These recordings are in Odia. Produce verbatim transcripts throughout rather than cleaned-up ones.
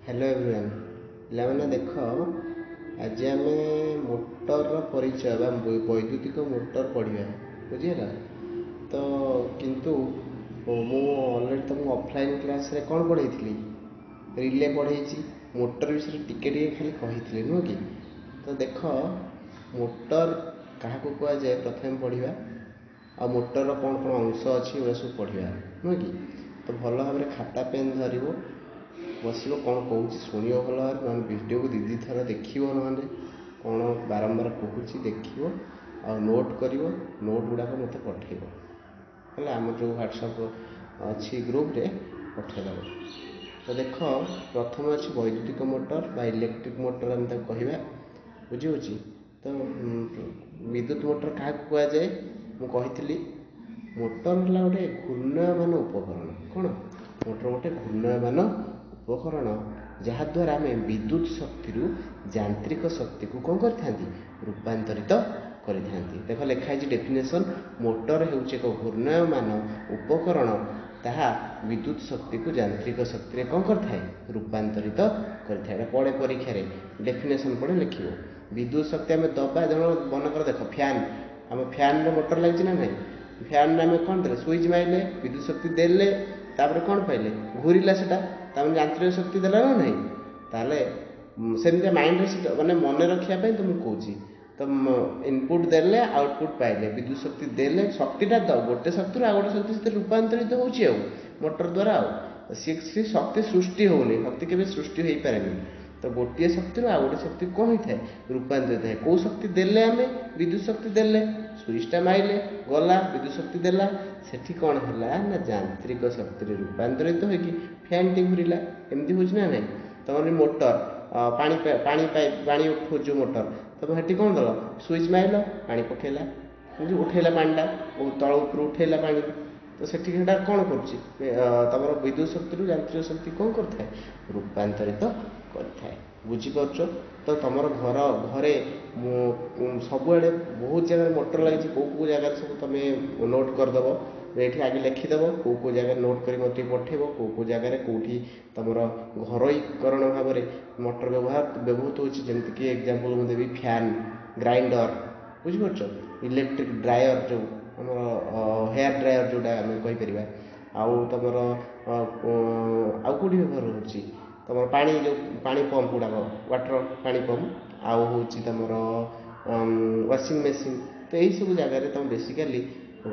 ହ୍ୟାଲୋ ଏଭ୍ରିୱାନ୍ ପିଲାମାନେ ଦେଖ ଆଜି ଆମେ ମୋଟରର ପରିଚୟ ବା ବୈଦ୍ୟୁତିକ ମୋଟର ପଢ଼ିବା ବୁଝିହେଲା ତ କିନ୍ତୁ ମୁଁ ଅଲରେଡ଼ି ତୁମକୁ ଅଫଲାଇନ୍ କ୍ଲାସ୍ରେ କ'ଣ ପଢ଼େଇଥିଲି ରିଲେ ପଢ଼େଇଛି ମୋଟର ବିଷୟରେ ଟିକେ ଟିକେ ଖାଲି କହିଥିଲି ନୁହଁ କି ତ ଦେଖ ମୋଟର କାହାକୁ କୁହାଯାଏ ପ୍ରଥମେ ପଢ଼ିବା ଆଉ ମୋଟରର କ'ଣ କ'ଣ ଅଂଶ ଅଛି ଏଗୁଡ଼ା ସବୁ ପଢ଼ିବା ନୁହେଁ କି ତ ଭଲ ଭାବରେ ଖାତା ପେନ୍ ଧରିବ ବସିବ କ'ଣ କହୁଛି ଶୁଣିବ ଭଲ ଭାବରେ ନହେଲେ ଭିଡ଼ିଓକୁ ଦୁଇ ଦୁଇ ଥର ଦେଖିବ ନହେଲେ କ'ଣ ବାରମ୍ବାର କହୁଛି ଦେଖିବ ଆଉ ନୋଟ୍ କରିବ ନୋଟ୍ ଗୁଡ଼ାକ ମୋତେ ପଠେଇବ ହେଲା ଆମର ଯେଉଁ ହ୍ୱାଟ୍ସଆପ୍ ଅଛି ଗ୍ରୁପ୍ରେ ପଠେଇଦେବ ତ ଦେଖ ପ୍ରଥମେ ଅଛି ବୈଦ୍ୟୁତିକ ମୋଟର ବା ଇଲେକ୍ଟ୍ରିକ୍ ମୋଟର ଆମେ ତାକୁ କହିବା ବୁଝିହେଉଛି ତ ବିଦ୍ୟୁତ ମୋଟର କାହାକୁ କୁହାଯାଏ ମୁଁ କହିଥିଲି ମୋଟର ହେଲା ଗୋଟେ ଘୂର୍ଣ୍ଣାୟମାନ ଉପକରଣ କ'ଣ ମୋଟର ଗୋଟେ ଘୂର୍ଣ୍ଣାୟମାନ ଉପକରଣ ଯାହାଦ୍ୱାରା ଆମେ ବିଦ୍ୟୁତ ଶକ୍ତିରୁ ଯାନ୍ତ୍ରିକ ଶକ୍ତିକୁ କ'ଣ କରିଥାନ୍ତି ରୂପାନ୍ତରିତ କରିଥାନ୍ତି ଦେଖ ଲେଖା ହେଇଛି ଡେଫିନେସନ୍ ମୋଟର ହେଉଛି ଏକ ଘୂର୍ଣ୍ଣାୟମାନ ଉପକରଣ ତାହା ବିଦ୍ୟୁତ ଶକ୍ତିକୁ ଯାନ୍ତ୍ରିକ ଶକ୍ତିରେ କ'ଣ କରିଥାଏ ରୂପାନ୍ତରିତ କରିଥାଏ ଏଇଟା ପଡ଼େ ପରୀକ୍ଷାରେ ଡେଫିନେସନ୍ ପଡ଼େ ଲେଖିବ ବିଦ୍ୟୁତ ଶକ୍ତି ଆମେ ଦେବା ଧର ମନେକର ଦେଖ ଫ୍ୟାନ୍ ଆମ ଫ୍ୟାନ୍ରେ ମୋଟର ଲାଗିଛି ନା ନାହିଁ ଫ୍ୟାନ୍ରେ ଆମେ କ'ଣ ଦେଲେ ସୁଇଚ୍ ମାରିଲେ ବିଦ୍ୟୁତ ଶକ୍ତି ଦେଲେ ତାପରେ କ'ଣ ପାଇଲେ ଘୂରିଲା ସେଟା ତାମାନେ ଯାନ୍ତ୍ରିକ ଶକ୍ତି ଦେଲା ନା ନାହିଁ ତାହେଲେ ସେମିତିଆ ମାଇଣ୍ଡରେ ସେଟା ମାନେ ମନେ ରଖିବା ପାଇଁ ତୁମକୁ କହୁଛି ତ ଇନପୁଟ୍ ଦେଲେ ଆଉଟପୁଟ୍ ପାଇଲେ ବିଦ୍ୟୁତ ଶକ୍ତି ଦେଲେ ଶକ୍ତିଟା ତ ଗୋଟେ ଶକ୍ତିରୁ ଆଉ ଗୋଟେ ଶକ୍ତି ସେଥିରେ ରୂପାନ୍ତରିତ ହେଉଛି ଆଉ ମୋଟର ଦ୍ୱାରା ଆଉ ସିଏ ସେ ଶକ୍ତି ସୃଷ୍ଟି ହେଉନି ଶକ୍ତି କେବେ ସୃଷ୍ଟି ହେଇପାରେନି ତ ଗୋଟିଏ ଶକ୍ତିରୁ ଆଉ ଗୋଟେ ଶକ୍ତି କ'ଣ ହେଇଥାଏ ରୂପାନ୍ତରିତ ହେଇଥାଏ କେଉଁ ଶକ୍ତି ଦେଲେ ଆମେ ବିଦ୍ୟୁତ ଶକ୍ତି ଦେଲେ ସୁଇଚ୍ଟା ମାରିଲେ ଗଲା ବିଦ୍ୟୁତ ଶକ୍ତି ଦେଲା ସେଠି କ'ଣ ହେଲା ନା ଯାନ୍ତ୍ରିକ ଶକ୍ତିରେ ରୂପାନ୍ତରିତ ହୋଇକି ଫ୍ୟାନ୍ଟି ଘୂରିଲା ଏମିତି ହେଉଛି ନା ନାହିଁ ତମର ମୋଟର ପାଣି ପାଣି ପାଇପ୍ ପାଣି ଉଠଉଛି ଯେଉଁ ମୋଟର ତମେ ସେଠି କ'ଣ ଦେଲ ସୁଇଚ୍ ମାରିଲ ପାଣି ପକେଇଲା ଉଠେଇଲା ପାଣିଟା ତଳ ଉପରୁ ଉଠେଇଲା ପାଣି ତ ସେଠି ସେଇଟା କ'ଣ କରୁଛି ତମର ବିଦ୍ୟୁତ ଶକ୍ତିରୁ ଯାନ୍ତ୍ରିକ ଶକ୍ତି କ'ଣ କରିଥାଏ ରୂପାନ୍ତରିତ କରିଥାଏ ବୁଝିପାରୁଛ ତ ତମର ଘର ଘରେ ମୁଁ ସବୁଆଡ଼େ ବହୁତ ଜାଗାରେ ମୋଟର ଲାଗିଛି କେଉଁ କେଉଁ ଜାଗାରେ ସବୁ ତମେ ନୋଟ୍ କରିଦେବ ଏଇଠି ଆଗେ ଲେଖିଦେବ କେଉଁ କେଉଁ ଜାଗାରେ ନୋଟ୍ କରି ମୋତେ ଟିକେ ପଠେଇବ କେଉଁ କେଉଁ ଜାଗାରେ କେଉଁଠି ତମର ଘରୋଇକରଣ ଭାବରେ ମୋଟର ବ୍ୟବହାର ବ୍ୟବହୃତ ହେଉଛି ଯେମିତିକି ଏକ୍ଜାମ୍ପଲ୍ ମୁଁ ଦେବି ଫ୍ୟାନ୍ ଗ୍ରାଇଣ୍ଡର ବୁଝିପାରୁଛ ଇଲେକ୍ଟ୍ରିକ୍ ଡ୍ରାୟର୍ ଯେଉଁ ଆମର ହେୟାର୍ ଡ୍ରାୟର୍ ଯେଉଁଟା ଆମେ କହିପାରିବା ଆଉ ତମର ଆଉ କେଉଁଠି ବ୍ୟବହାର ହେଉଛି ତମର ପାଣି ଯେଉଁ ପାଣି ପମ୍ପ ଗୁଡ଼ାକ ୱାଟର୍ ପାଣି ପମ୍ପ ଆଉ ହେଉଛି ତମର ୱାସିଂ ମେସିନ୍ ତ ଏଇସବୁ ଜାଗାରେ ତମେ ବେସିକାଲି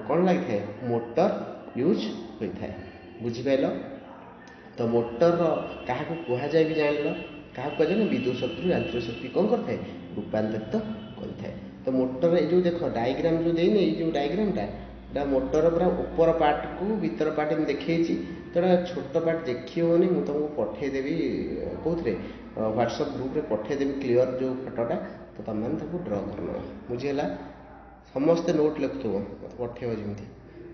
କ'ଣ ଲାଗିଥାଏ ମୋଟର ୟୁଜ୍ ହୋଇଥାଏ ବୁଝିପାରିଲ ତ ମୋଟରର କାହାକୁ କୁହାଯାଏ ବି ଜାଣିଲ କାହାକୁ କୁହାଯାଏ ନା ବିଦ୍ୟୁତ ଶକ୍ତିରୁ ଯାନ୍ତ୍ରିକ ଶକ୍ତି କ'ଣ କରିଥାଏ ରୂପାନ୍ତରିତ କରିଥାଏ ତ ମୋଟର ଏଇ ଯେଉଁ ଦେଖ ଡାଇଗ୍ରାମ୍ ଯେଉଁ ଦେଇନି ଏଇ ଯେଉଁ ଡାଇଗ୍ରାମଟା ଏଇଟା ମୋଟର ପୁରା ଉପର ପାର୍ଟକୁ ଭିତର ପାର୍ଟ ଏମିତି ଦେଖେଇଛି ତ ଏଇଟା ଛୋଟ ପାର୍ଟ ଦେଖି ହେଉନି ମୁଁ ତୁମକୁ ପଠେଇଦେବି କେଉଁଥିରେ ହ୍ୱାଟ୍ସଆପ୍ ଗ୍ରୁପ୍ରେ ପଠେଇଦେବି କ୍ଲିଅର୍ ଯେଉଁ ଫଟୋଟା ତ ତୁମେମାନେ ତାକୁ ଡ୍ର କରିନେବ ବୁଝିହେଲା ସମସ୍ତେ ନୋଟ୍ ଲେଖୁଥିବ ମୋତେ ପଠେଇବ ଯେମିତି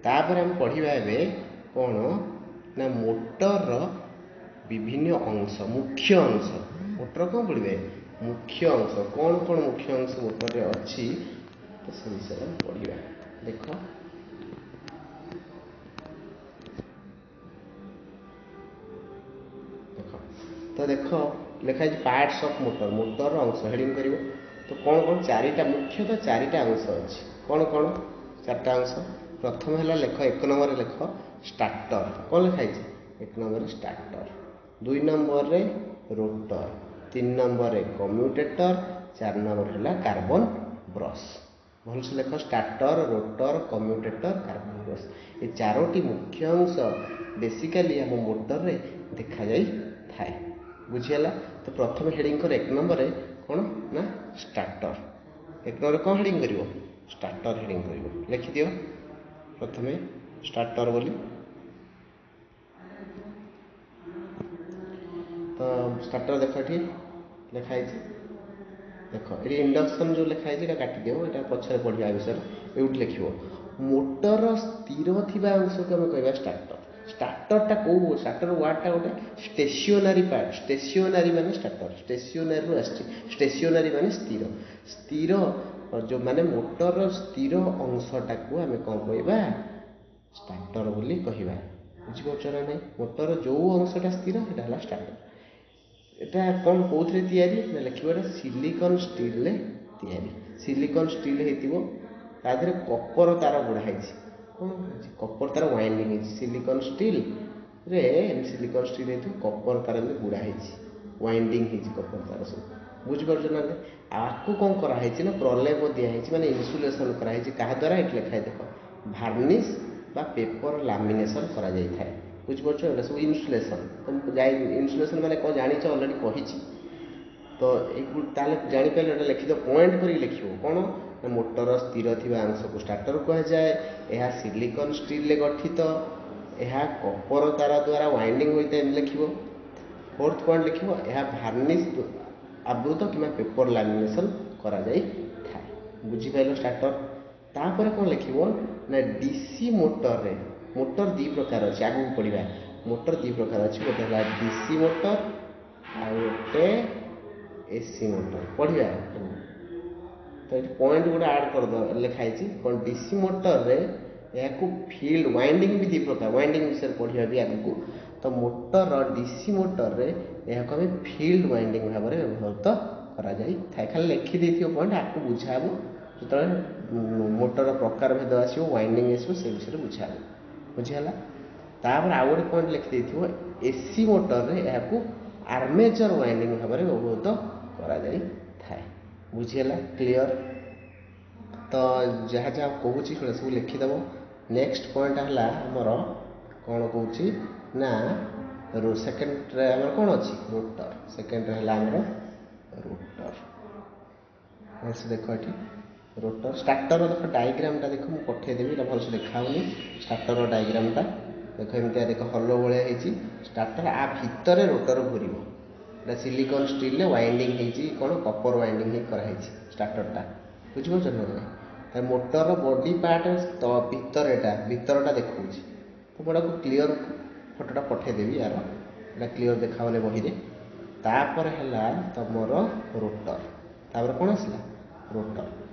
ତାପରେ ଆମେ ପଢ଼ିବା ଏବେ କ'ଣ ନା ମୋଟରର ବିଭିନ୍ନ ଅଂଶ ମୁଖ୍ୟ ଅଂଶ ମୋଟର କ'ଣ ପଢ଼ିବେ ମୁଖ୍ୟ ଅଂଶ କ'ଣ କ'ଣ ମୁଖ୍ୟ ଅଂଶ ମୋଟରରେ ଅଛି ତ ସେ ବିଷୟରେ ଆମେ ପଢ଼ିବା ଦେଖ ଦେଖ ତ ଦେଖ ଲେଖା ହେଇଛି ପାର୍ଟସ୍ ଅଫ୍ ମୋଟର ମୋଟରର ଅଂଶ ହେଡ଼ିଂ କରିବ ତ କ'ଣ କ'ଣ ଚାରିଟା ମୁଖ୍ୟତଃ ଚାରିଟା ଅଂଶ ଅଛି କ'ଣ କ'ଣ ଚାରିଟା ଅଂଶ ପ୍ରଥମ ହେଲା ଲେଖ ଏକ ନମ୍ବରରେ ଲେଖ ଷ୍ଟାର୍ଟର କ'ଣ ଲେଖା ହେଇଛି ଏକ ନମ୍ବରରେ ଷ୍ଟାର୍ଟର ଦୁଇ ନମ୍ବରରେ ରୋଟର ତିନି ନମ୍ବରରେ କମ୍ୟୁଟେଟର ଚାରି ନମ୍ବର ହେଲା କାର୍ବନ ବ୍ରସ୍ ଭଲସେ ଲେଖ starter rotor commutator carbon brush ଏ ଚାରୋଟି ମୁଖ୍ୟ ଅଂଶ ବେସିକାଲି ଆମ ମୋଟରରେ ଦେଖାଯାଇଥାଏ ବୁଝିହେଲା ତ ପ୍ରଥମେ ହେଡ଼ିଂ କର ଏକ ନମ୍ବରରେ କ'ଣ ନା ଷ୍ଟାର୍ଟର ଏକ ନମ୍ବରରେ କ'ଣ ହେଡ଼ିଂ କରିବ ଷ୍ଟାର୍ଟର ହେଡ଼ିଂ କରିବ ଲେଖିଦିଅ ପ୍ରଥମେ ଷ୍ଟାର୍ଟର ବୋଲି ତ ଷ୍ଟାର୍ଟର ଦେଖ ଏଠି ଲେଖା ହେଇଛି ଦେଖ ଏଠି ଇଣ୍ଡକ୍ସନ୍ ଯେଉଁ ଲେଖା ହେଇଛି ଏଇଟା କାଟିଦିଅ ଏଇଟା ପଛରେ ପଢ଼ିବା ବିଷୟରେ ଏଇଠି ଲେଖିବ ମୋଟର ସ୍ଥିର ଥିବା ଅଂଶକୁ ଆମେ କହିବା ଷ୍ଟାର୍ଟର ଷ୍ଟାର୍ଟରଟା କେଉଁ ଷ୍ଟାର୍ଟର ୱାର୍ଡ଼ଟା ଗୋଟେ ଷ୍ଟେସନାରୀ ପାର୍ଟ ଷ୍ଟେସନାରୀ ମାନେ ଷ୍ଟାର୍ଟର ଷ୍ଟେସନାରୀରୁ ଆସିଛି ଷ୍ଟେସନାରୀ ମାନେ ସ୍ଥିର ସ୍ଥିର ଯେଉଁମାନେ ମୋଟରର ସ୍ଥିର ଅଂଶଟାକୁ ଆମେ କ'ଣ କହିବା ଷ୍ଟାର୍ଟର ବୋଲି କହିବା ବୁଝିପାରୁଛ ନା ନାହିଁ ମୋଟର ଯେଉଁ ଅଂଶଟା ସ୍ଥିର ସେଇଟା ହେଲା ଷ୍ଟାର୍ଟର ଏଟା କ'ଣ କେଉଁଥିରେ ତିଆରି ନା ଲେଖିବ ଏଟା ସିଲିକନ୍ ଷ୍ଟିଲ୍ରେ ତିଆରି। ସିଲିକନ୍ ଷ୍ଟିଲ୍ ହେଇଥିବ, ତା ଦେହରେ କପର ତାର ଗୁଡ଼ା ହେଇଛି। କ'ଣ ହେଇଛି? କପର ତାର ୱାଇଣ୍ଡିଂ ହେଇଛି। ସିଲିକନ୍ ଷ୍ଟିଲ୍ରେ ସିଲିକନ୍ ଷ୍ଟିଲ୍ ହେଇଥିବ, କପର ତାର ଏମିତି ଗୁଡ଼ା ହେଇଛି, ୱାଇଣ୍ଡିଂ ହେଇଛି କପର ତାର ସବୁ। ବୁଝିପାରୁଛ ନା? ଆକୁ କ'ଣ କରାହେଇଛି ନା ପ୍ରଲେପ ଦିଆହେଇଛି, ମାନେ ଇନ୍ସୁଲେସନ୍ କରାହେଇଛି। କାହା ଦ୍ୱାରା? ଏଠି ଲେଖା ହେଇଛି ଦେଖ, ଭାର୍ନିସ୍ ବା ପେପର ଲାମିନେସନ୍ କରାଯାଇଥାଏ। ବୁଝିପାରୁଛ? ଏଇଟା ସବୁ ଇନ୍ସୁଲେସନ୍। ତ ଯାଇ ଇନ୍ସୁଲେସନ୍ ମାନେ କ'ଣ ଜାଣିଛ, ଅଲରେଡ଼ି କହିଛି ତ। ଏଇ ତାହେଲେ ଜାଣିପାରିଲ? ଏଇଟା ଲେଖିଦିଅ, ପଏଣ୍ଟ କରିକି ଲେଖିବ। କ'ଣ ନା ମୋଟର ସ୍ଥିର ଥିବା ଅଂଶକୁ ଷ୍ଟାର୍ଟର କୁହାଯାଏ। ଏହା ସିଲିକନ୍ ଷ୍ଟିଲ୍ରେ ଗଠିତ। ଏହା କପର ତାର ଦ୍ୱାରା ୱାଇଣ୍ଡିଂ ହୋଇଥାଏ, ଏମିତି ଲେଖିବ। ଫୋର୍ଥ ପଏଣ୍ଟ ଲେଖିବ, ଏହା ଭାର୍ନିସ୍ ଆବୃତ କିମ୍ବା ପେପର ଲାମିନେସନ୍ କରାଯାଇଥାଏ। ବୁଝିପାରିଲ ଷ୍ଟାର୍ଟର? ତାପରେ କ'ଣ ଲେଖିବ ନା ଡିସି ମୋଟରରେ, ମୋଟର ଦୁଇ ପ୍ରକାର ଅଛି, ଆଗକୁ ପଢ଼ିବା। ମୋଟର ଦୁଇ ପ୍ରକାର ଅଛି, ଗୋଟେ ହେଲା ଡିସି ମୋଟର ଆଉ ଗୋଟେ ଏସି ମୋଟର, ପଢ଼ିବା। ତ ଏଠି ପଏଣ୍ଟ ଗୋଟେ ଆଡ଼୍ କରିଦେବ। ଲେଖା ହେଇଛି କ'ଣ? ଡିସି ମୋଟରରେ ଏହାକୁ ଫିଲ୍ଡ ୱାଇଣ୍ଡିଂ ବି ଦୁଇ ପ୍ରକାର, ୱାଇଣ୍ଡିଂ ବିଷୟରେ ପଢ଼ିବା ବି ଆଗକୁ। ତ ମୋଟର, ଡିସି ମୋଟରରେ ଏହାକୁ ଆମେ ଫିଲ୍ଡ ୱାଇଣ୍ଡିଂ ଭାବରେ ବ୍ୟବହୃତ କରାଯାଇଥାଏ। ଖାଲି ଲେଖିଦେଇଥିବ ପଏଣ୍ଟ, ଆକୁ ବୁଝା ହେବ ଯେତେବେଳେ ମୋଟର ପ୍ରକାର ଭେଦ ଆସିବ, ୱାଇଣ୍ଡିଂ ଆସିବ, ସେ ବିଷୟରେ ବୁଝା ହେବ। ବୁଝିହେଲା? ତାପରେ ଆଉ ଗୋଟେ ପଏଣ୍ଟ ଲେଖିଦେଇଥିବ, ଏସି ମୋଟରରେ ଏହାକୁ ଆର୍ମେଚର ୱାଇଣ୍ଡିଂ ଭାବରେ ବ୍ୟବହୃତ କରାଯାଇଥାଏ। ବୁଝିହେଲା? କ୍ଲିଅର? ତ ଯାହା ଯାହା କହୁଛି ସେଗୁଡ଼ା ସବୁ ଲେଖିଦେବ। ନେକ୍ସଟ ପଏଣ୍ଟ ହେଲା ଆମର କ'ଣ କହୁଛି ନା ସେକେଣ୍ଡରେ ଆମର କ'ଣ ଅଛି? ରୋଟର। ସେକେଣ୍ଡରେ ହେଲା ଆମର ରୋଟର। ଭଲସେ ଦେଖ ଏଠି ରୋଟର, ଷ୍ଟାର୍ଟର ଦେଖ, ଡାଇଗ୍ରାମଟା ଦେଖ, ମୁଁ ପଠେଇଦେବି, ଏଇଟା ଭଲସେ ଦେଖାହେଉନି। ଷ୍ଟାର୍ଟର ଡାଇଗ୍ରାମଟା ଦେଖ, ଏମିତିଆ ଦେଖ, ହଲୋ ଭଳିଆ ହେଇଛି ଷ୍ଟାର୍ଟର, ଆ ଭିତରେ ରୋଟର ଘୁରିବ। ଏଇଟା ସିଲିକନ୍ ଷ୍ଟିଲ୍ରେ ୱାଇଣ୍ଡିଂ ହେଇଛି, କ'ଣ କପର ୱାଇଣ୍ଡିଂ ହେଇ କରାହେଇଛି ଷ୍ଟାର୍ଟରଟା। ବୁଝିପାରୁଛ ନା ନାହିଁ? ମୋଟରର ବଡି ପାର୍ଟ ତ ଭିତରେ, ଏଇଟା ଭିତରଟା ଦେଖାଉଛି। ତ ମୁଁ ଏଟାକୁ କ୍ଲିଅର ଫଟୋଟା ପଠେଇଦେବି ୟାର, ଏଇଟା କ୍ଲିଅର ଦେଖାହେଉନି ବହିରେ। ତାପରେ ହେଲା ତମର ରୋଟର। ତାପରେ କ'ଣ ଆସିଲା? ରୋଟର।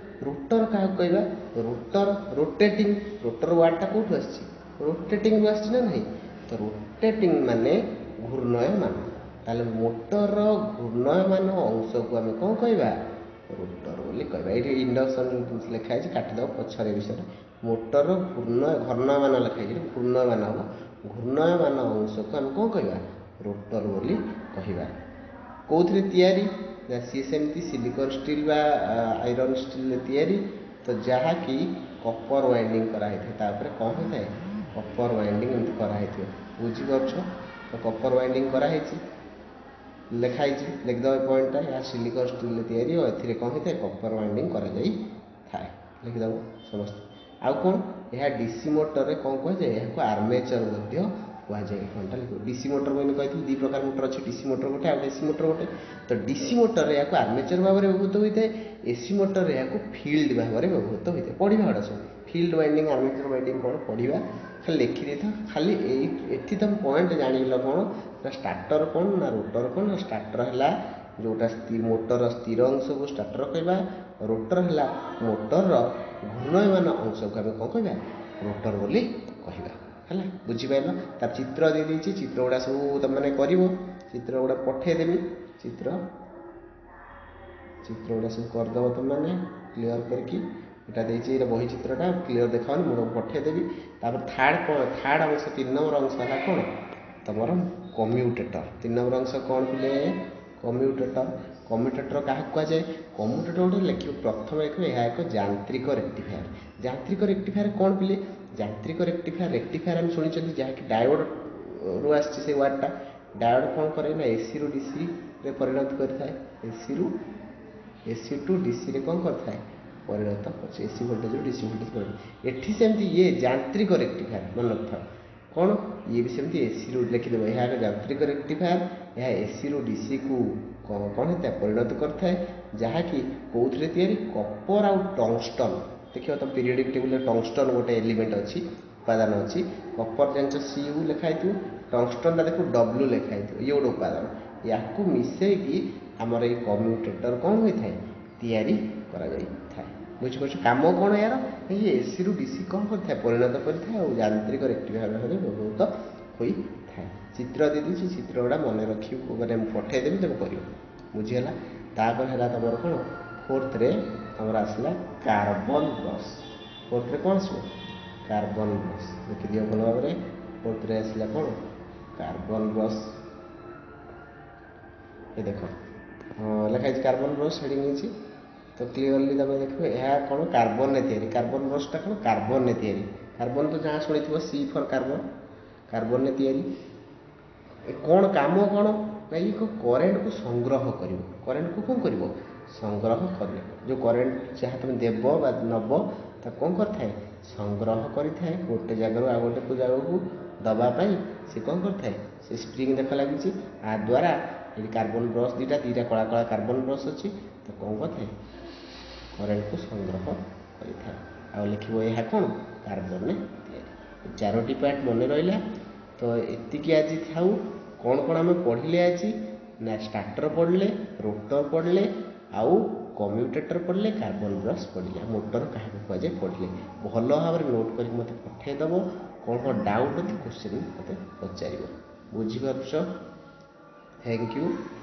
ରୋଟର କାହାକୁ କହିବା? ରୋଟର ରୋଟେଟିଂ, ରୋଟର ୱାର୍ଡ଼ଟା କେଉଁଠୁ ଆସିଛି? ରୋଟେଟିଂରୁ ଆସିଛି ନା ନାହିଁ? ତ ରୋଟେଟିଂ ମାନେ ଘୂର୍ଣ୍ଣୟମାନ। ତାହେଲେ ମୋଟରର ଘୂର୍ଣ୍ଣୟମାନ ଅଂଶକୁ ଆମେ କ'ଣ କହିବା? ରୋଟର ବୋଲି କହିବା। ଏଇଠି ଇଣ୍ଡକ୍ସନ୍ ଯେଉଁ ଲେଖା ହେଇଛି କାଟିଦେବ ପଛରେ ବିଷୟରେ। ମୋଟରର ଘୂର୍ଣ୍ଣ ଘର୍ଣ୍ଣୟମାନ ଲେଖା ହେଇଛି, ଘୂର୍ଣ୍ଣୟମାନ ହେବ। ଘୂର୍ଣ୍ଣୟମାନ ଅଂଶକୁ ଆମେ କ'ଣ କହିବା? ରୋଟର ବୋଲି କହିବା। କେଉଁଥିରେ ତିଆରି ନା ସିଏ ସେମିତି ସିଲିକନ୍ ଷ୍ଟିଲ୍ ବା ଆଇରନ୍ ଷ୍ଟିଲ୍ରେ ତିଆରି, ତ ଯାହାକି କପର ୱାଇଣ୍ଡିଂ କରାହେଇଥାଏ। ତାପରେ କ'ଣ ହୋଇଥାଏ? କପର ୱାଇଣ୍ଡିଂ ଏମିତି କରାହେଇଥିବ। ବୁଝିପାରୁଛ ତ? କପର ୱାଇଣ୍ଡିଂ କରାହେଇଛି, ଲେଖା ହେଇଛି, ଲେଖିଦେବ ଏ ପଏଣ୍ଟଟା। ଏହା ସିଲିକନ୍ ଷ୍ଟିଲ୍ରେ ତିଆରି ଓ ଏଥିରେ କ'ଣ ହୋଇଥାଏ? କପର ୱାଇଣ୍ଡିଂ କରାଯାଇଥାଏ, ଲେଖିଦେବ ସମସ୍ତେ। ଆଉ କ'ଣ? ଏହା ଡିସି ମୋଟରରେ କ'ଣ କୁହାଯାଏ? ଏହାକୁ ଆର୍ମେଚର ମଧ୍ୟ କୁହାଯାଏ। ପଏଣ୍ଟଟା ଲେଖିବ। ଡିସି ମୋଟର ମୁଁ କହିଥିଲି ଦୁଇ ପ୍ରକାର ମୋଟର ଅଛି, ଡିସି ମୋଟର ଗୋଟେ ଆଉ ଏସି ମୋଟର ଗୋଟେ। ତ ଡିସି ମୋଟରରେ ଏହାକୁ ଆର୍ମେଚର ଭାବରେ ବ୍ୟବହୃତ ହୋଇଥାଏ, ଏସି ମୋଟରରେ ଏହାକୁ ଫିଲ୍ଡ ଭାବରେ ବ୍ୟବହୃତ ହୋଇଥାଏ। ପଢ଼ିବା ଏଗୁଡ଼ା ସବୁ, ଫିଲ୍ଡ ୱାଇଣ୍ଡିଂ, ଆର୍ମେଚର ୱାଇଣ୍ଡିଂ କ'ଣ ପଢ଼ିବା, ଖାଲି ଲେଖିଦେଇଥାଅ। ଖାଲି ଏଇ ଏଠି ତୁମେ ପଏଣ୍ଟ ଜାଣିଲ କ'ଣ ନା ଷ୍ଟାର୍ଟର କ'ଣ ନା ରୋଟର କ'ଣ? ନା ଷ୍ଟାର୍ଟର ହେଲା ଯେଉଁଟା ମୋଟରର ସ୍ଥିର ଅଂଶକୁ ଷ୍ଟାର୍ଟର କହିବା, ରୋଟର ହେଲା ମୋଟରର ଘୂର୍ଣ୍ଣୟମାନ ଅଂଶକୁ ଆମେ କ'ଣ କହିବା? ରୋଟର ବୋଲି କହିବା। ହେଲା? ବୁଝିପାରିଲ? ତାର ଚିତ୍ର ଦେଇଦେଇଛି, ଚିତ୍ର ଗୁଡ଼ା ସବୁ ତୁମେମାନେ କରିବ। ଚିତ୍ର ଗୁଡ଼ା ପଠେଇଦେବି, ଚିତ୍ର ଚିତ୍ର ଗୁଡ଼ା ସବୁ କରିଦେବ ତୁମେମାନେ କ୍ଲିଅର କରିକି। ଏଇଟା ଦେଇଛି, ଏଇଟା ବହି ଚିତ୍ରଟା କ୍ଲିଅର ଦେଖାଉନି, ମୁଁ ତୁମକୁ ପଠେଇଦେବି। ତାପରେ ଥାର୍ଡ଼ ଥାର୍ଡ଼ ଅଂଶ, ତିନି ନମ୍ବର ଅଂଶ ହେଲା କ'ଣ ତମର? କମ୍ୟୁଟେଟର। ତିନି ନମ୍ବର ଅଂଶ କ'ଣ ପିଲେ? କମ୍ୟୁଟେଟର। କମ୍ୟୁଟେଟର କାହାକୁ କୁହାଯାଏ? କମ୍ୟୁଟେଟର ଗୋଟେ ଲେଖିବ, ପ୍ରଥମେ ଲେଖିବ ଏହା ଏକ ଯାନ୍ତ୍ରିକ ରେକ୍ଟିଫାୟାର। ଯାନ୍ତ୍ରିକ ରେକ୍ଟିଫାୟାର କ'ଣ ପିଲେ? ଯାନ୍ତ୍ରିକ ରେକ୍ଟିଫାୟାର, ରେକ୍ଟିଫାୟାର ଆମେ ଶୁଣିଛନ୍ତି, ଯାହାକି ଡାୟୋଡ଼ରୁ ଆସିଛି ସେଇ ୱାର୍ଡ଼ଟା। ଡାୟୋଡ଼ କ'ଣ କରେ ନା ଏସିରୁ ଡିସିରେ ପରିଣତ କରିଥାଏ। ଏସିରୁ ଏସି ଟୁ ଡିସିରେ କ'ଣ କରିଥାଏ? ପରିଣତ କରୁଛି। ଏସି ଭୋଲ୍ଟେଜରୁ ଡିସି ଭୋଲ୍ଟେଜ ପରିଣତ। ଏଠି ସେମିତି ଇଏ ଯାନ୍ତ୍ରିକ ରେକ୍ଟିଫାୟାର, ମନେ ରଖିଥାଅ। କ'ଣ ଇଏ ବି ସେମିତି ଏସିରୁ, ଲେଖିଦେବ ଏହା ଏକ ଯାନ୍ତ୍ରିକ ରେକ୍ଟିଫାୟାର। ଏହା ଏସିରୁ ଡିସିକୁ କ'ଣ କ'ଣ ହେଇଥାଏ? ପରିଣତ କରିଥାଏ। ଯାହାକି କେଉଁଥିରେ ତିଆରି? କପର ଆଉ ଟଙ୍ଗଷ୍ଟନ୍। ଦେଖିବ ତମ ପିରିୟଡ଼ିକ୍ ଟେବୁଲରେ ଟଙ୍ଗଷ୍ଟନ୍ ଗୋଟେ ଏଲିମେଣ୍ଟ ଅଛି, ଉପାଦାନ ଅଛି। କପର ଜାଣିଛ ସି ୟୁ ଲେଖା ହେଇଥିବ, ଟଙ୍ଗଷ୍ଟନ୍ଟା ଦେଖିବ ଡବ୍ଲୁ ଲେଖା ହେଇଥିବ। ଇଏ ଗୋଟେ ଉପାଦାନ, ୟାକୁ ମିଶେଇକି ଆମର ଏଇ କମ୍ୟୁଟେଟର କ'ଣ ହୋଇଥାଏ? ତିଆରି କରାଯାଇଥାଏ। ବୁଝିପାରୁଛ? କାମ କ'ଣ ଏହାର? ଇଏ ଏସିରୁ ଡିସି କ'ଣ କରିଥାଏ? ପରିଣତ କରିଥାଏ ଆଉ ଯାନ୍ତ୍ରିକ ରେକ୍ଟିଫାୟାର ଭାବରେ ବ୍ୟବହୃତ ହୋଇଥାଏ। ଚିତ୍ର ଦେଇଦେଇଛି, ଚିତ୍ର ଗୁଡ଼ା ମନେ ରଖିବ, ମାନେ ମୁଁ ପଠେଇଦେବି, ତୁମେ କରିବ। ବୁଝିହେଲା? ତାପରେ ହେଲା ତୁମର କ'ଣ? ଫୋର୍ଥରେ ତୁମର ଆସିଲା କାର୍ବନ ବ୍ରସ୍। ଫୋର୍ଥରେ କ'ଣ ଆସିବ? Carbon brush. ଦେଖିଦିଅ ଭଲ ଭାବରେ। ଫୋର୍ଥରେ ଆସିଲା କ'ଣ? Carbon brush. ଏ ଦେଖ, ଲେଖା ହେଇଛି କାର୍ବନ ବ୍ରସ୍, ହେଡ଼ିଂ ହେଇଛି। ତ କ୍ଲିଅରଲି ତୁମେ ଦେଖିବ, ଏହା କ'ଣ? କାର୍ବନରେ ତିଆରି। କାର୍ବନ ବ୍ରସ୍ଟା କ'ଣ? କାର୍ବନରେ ତିଆରି। କାର୍ବନ ତ ଯାହା ଶୁଣିଥିବ, ସି ଫର୍ କାର୍ବନ। କାର୍ବନରେ ତିଆରି। କ'ଣ କାମ କ'ଣ ନା ଇଏ କରେଣ୍ଟକୁ ସଂଗ୍ରହ କରିବ। କରେଣ୍ଟକୁ କ'ଣ କରିବ? ସଂଗ୍ରହ କରିବ। ଯେଉଁ କରେଣ୍ଟ ଯାହା ତୁମେ ଦେବ ବା ନେବ, ତାକୁ କ'ଣ କରିଥାଏ? ସଂଗ୍ରହ କରିଥାଏ। ଗୋଟେ ଜାଗାରୁ ଆଉ ଗୋଟେ ଜାଗାକୁ ଦେବା ପାଇଁ ସେ କ'ଣ କରିଥାଏ? ସେ ସ୍ପ୍ରିଙ୍ଗ ଦେଖ ଲାଗିଛି। ଆ ଦ୍ୱାରା ଏଠି କାର୍ବନ ବ୍ରସ୍ ଦୁଇଟା ଦୁଇଟା କଳା କଳା କାର୍ବନ ବ୍ରସ୍ ଅଛି। ତ କ'ଣ କରିଥାଏ? କରେଣ୍ଟକୁ ସଂଗ୍ରହ କରିଥାଏ। ଆଉ ଲେଖିବ, ଏହା କ'ଣ? କାର୍ବନରେ ତିଆରି। ଚାରୋଟି ପାର୍ଟ ମନେ ରହିଲା ତ? ଏତିକି ଆଜି ଥାଉ। କ'ଣ କ'ଣ ଆମେ ପଢ଼ିଲେ ଆଜି ନା ଷ୍ଟାର୍ଟର ପଢ଼ିଲେ, ରୋଟର ପଢ଼ିଲେ, ଆଉ କମ୍ୟୁଟେଟର ପଢ଼ିଲେ, କାର୍ବନ ବ୍ରସ୍ ପଢ଼ିଲେ, ମୋଟର କାହାକୁ କୁହାଯାଏ ପଢ଼ିଲେ। ଭଲ ଭାବରେ ନୋଟ୍ କରିକି ମୋତେ ପଠାଇଦେବ। କ'ଣ କ'ଣ ଡାଉଟ୍ ଅଛି, କୋଶ୍ଚିନ୍ ମୋତେ ପଚାରିବ। ବୁଝିପାରୁଛ? Thank you.